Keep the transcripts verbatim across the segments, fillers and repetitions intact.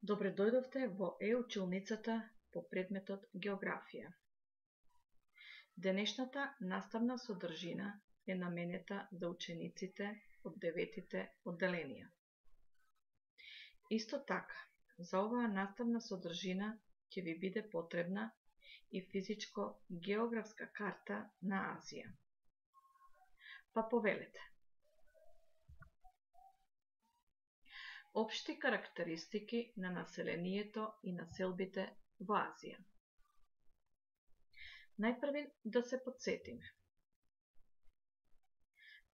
Добре дојдовте во е-училницата по предметот Географија. Денешната наставна содржина е наменета за учениците од деветите одделенија. Исто така, за оваа наставна содржина ќе ви биде потребна и физичко-географска карта на Азија. Па повелете. Општи карактеристики на населението и населбите во Азија. Најпрви да се потсетиме.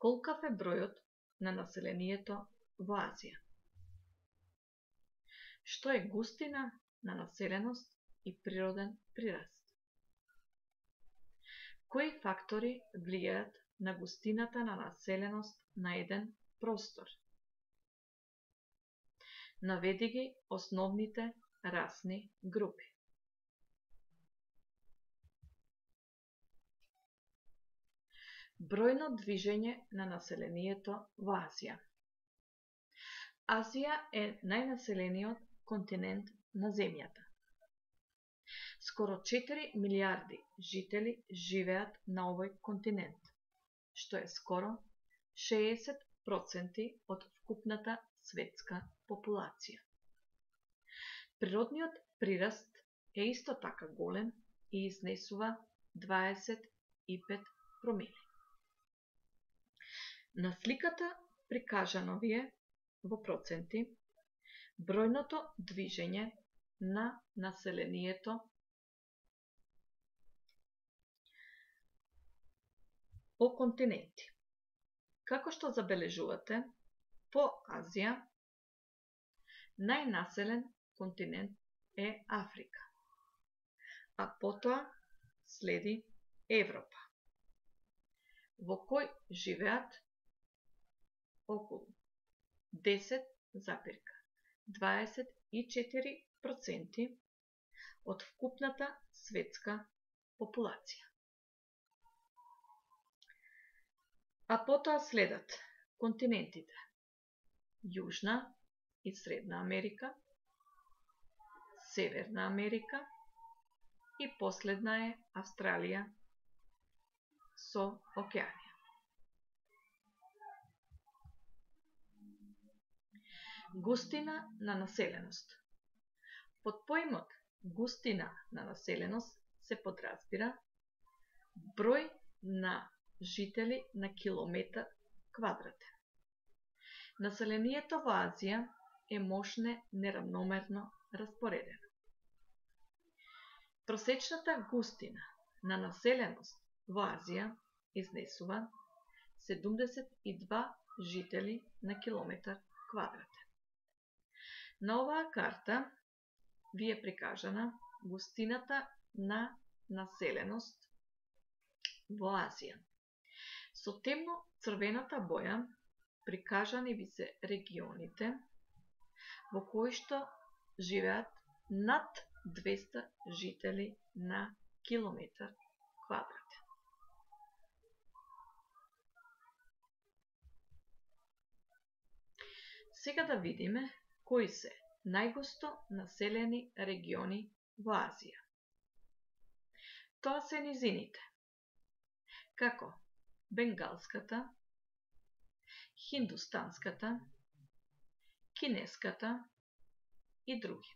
Колкав е бројот на населението во Азија? Што е густина на населеност и природен прираст? Кои фактори влијаат на густината на населеност на еден простор? Наведи ги основните расни групи. Бројно движење на населението во Азија. Азија е најнаселениот континент на земјата. Скоро четири милијарди жители живеат на овој континент, што е скоро шеесет проценти од вкупната светска популација. Природниот прираст е исто така голем и изнесува дваесет и пет промили. На сликата прикажано ви е во проценти бројното движење на населението по континенти. Како што забележувате, по Азија најнаселен континент е Африка, а потоа следи Европа, во кој живеат околу десет зарез дваесет и четири проценти од вкупната светска популација. А потоа следат континентите Јужна и Средна Америка, Северна Америка и последна е Австралија со океанија. Густина на населеност. Под поимот густина на населеност се подразбира број на жители на километар квадратен. Населението во Азија е мошне неравномерно распоредено. Просечната густина на населеност во Азија изнесува седумдесет и два жители на километар квадратен. На оваа карта ви е прикажана густината на населеност во Азија. Со темно црвената боја прикажани ви се регионите во кои што живеат над двесте жители на километар квадратен. Сега да видиме кои се најгусто населени региони во Азија. Тоа се низините, како Бенгалската, Хиндустанската, Кинеската и други.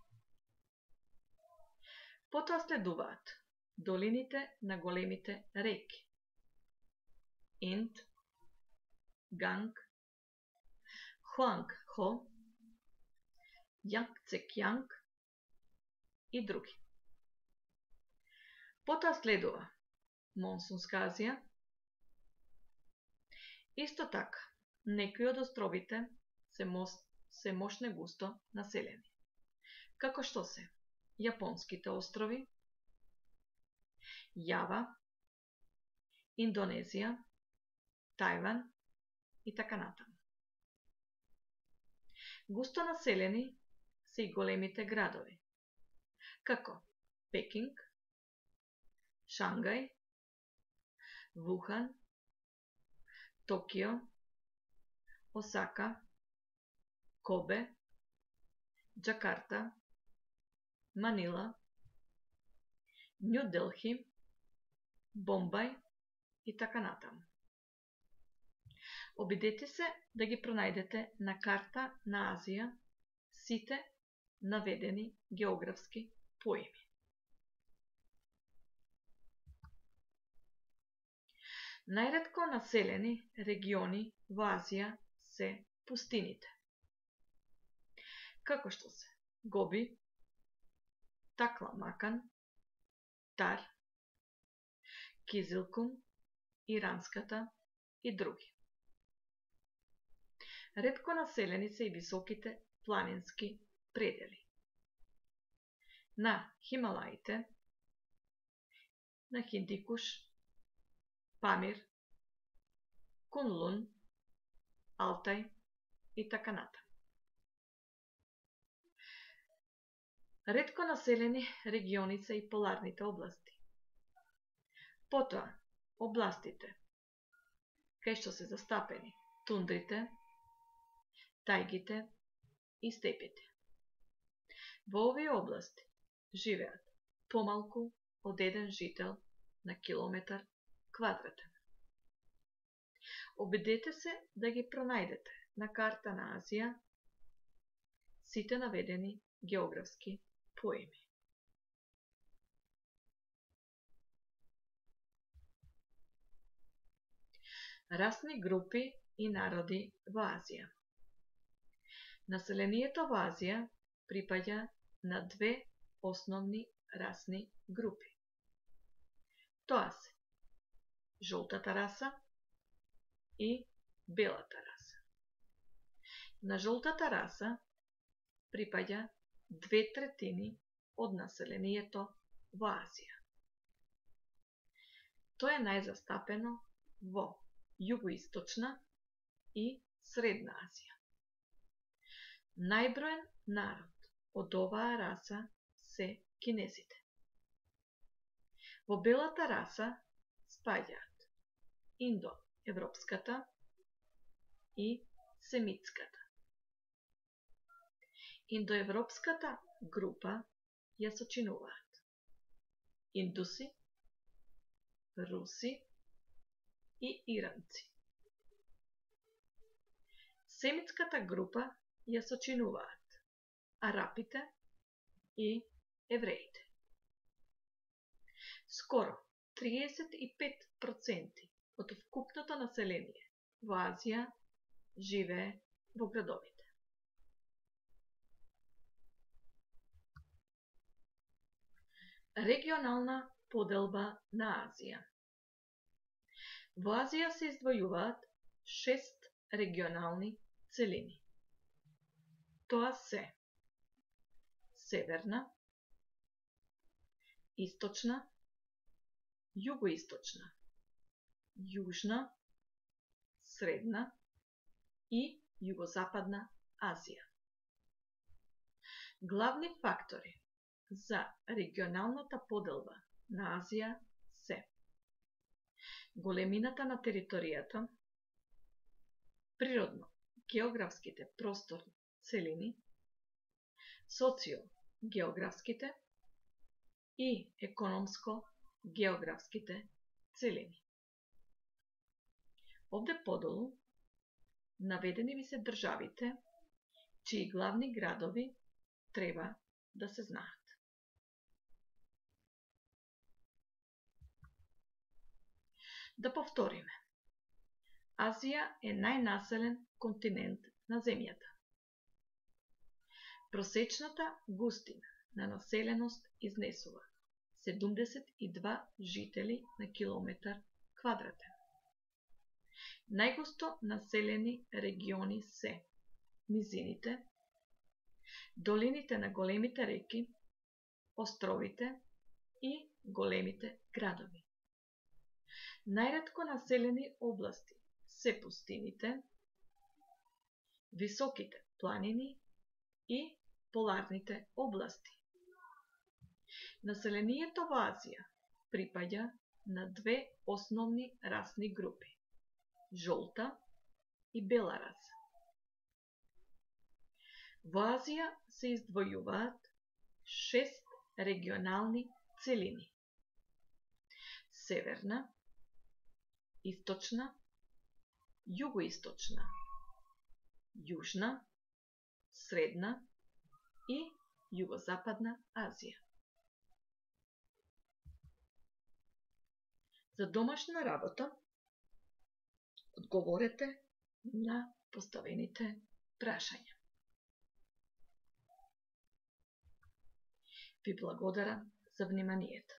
Потоа следуваат долините на големите реки Инд, Ганг, Хуанг-хо, Јангцекјанг и други. Потоа следува Монсунска Азија. Исто така, некои од островите се, мос, се мошне густо населени, како што се Јапонските острови, Јава, Индонезија, Тајван и така натаму. Густо населени се и големите градови, како Пекинг, Шангај, Вухан, Токио, Осака, Кобе, Џакарта Манила, Њу Делхи, Бомбај и така натаму. Обидете се да ги пронајдете на карта на Азија сите наведени географски поими. Најретко населени региони во Азија се пустините, како што се Гоби, Такламакан, Тар, Кизилкум, Иранската и други. Ретко населени се и високите планински предели. На Хималаите, на Хиндикуш, Памир, Кунлун, Алтај и така натаму. Ретко населени региони се и поларните области. Потоа, областите кај што се застапени тундрите, тајгите и степите. Во овие области живеат помалку од еден жител на километар квадратен. Обидете се да ги пронајдете на карта на Азија сите наведени географски поими. Расни групи и народи во Азија. Населението во Азија припаѓа на две основни расни групи. Тоа се жолтата раса и белата раса. На жолтата раса припаѓа две третини од населението во Азија. Тоа е најзастапено во југоисточна и средна Азија. Најброен народ од оваа раса се кинезите. Во белата раса спаѓаат индоевропската и семитската. Индоевропската група ја сочинуваат индуси, руси и иранци. Семитската група ја сочинуваат арапите и евреите. Скоро триесет и пет проценти од вкупното население во Азија живее во градовите. Регионална поделба на Азија. Во Азија се издвојуваат шест регионални целини. Тоа се северна, источна, југоисточна, јужна, средна и југозападна Азија. Главни фактори за регионалната поделба на Азија се големината на територијата, природно географските просторни целини, социо-географските и економско-географските целини. Овде подолу наведени ви се државите чии главни градови треба да се знаат. Да повториме. Азија е најнаселен континент на земјата. Просечната густина на населеност изнесува седумдесет и два жители на километар квадратен. Најгусто населени региони се низините, долините на големите реки, островите и големите градови. Најретко населени области се пустините, високите планини и поларните области. Населението во Азија припаѓа на две основни расни групи – жолта и бела раса. Во Азија се издвојуваат шест регионални целини: северна, источна, југоисточна, јужна, средна и југозападна Азија. За домашна работа одговорете на поставените прашања. Ви благодарам за вниманието.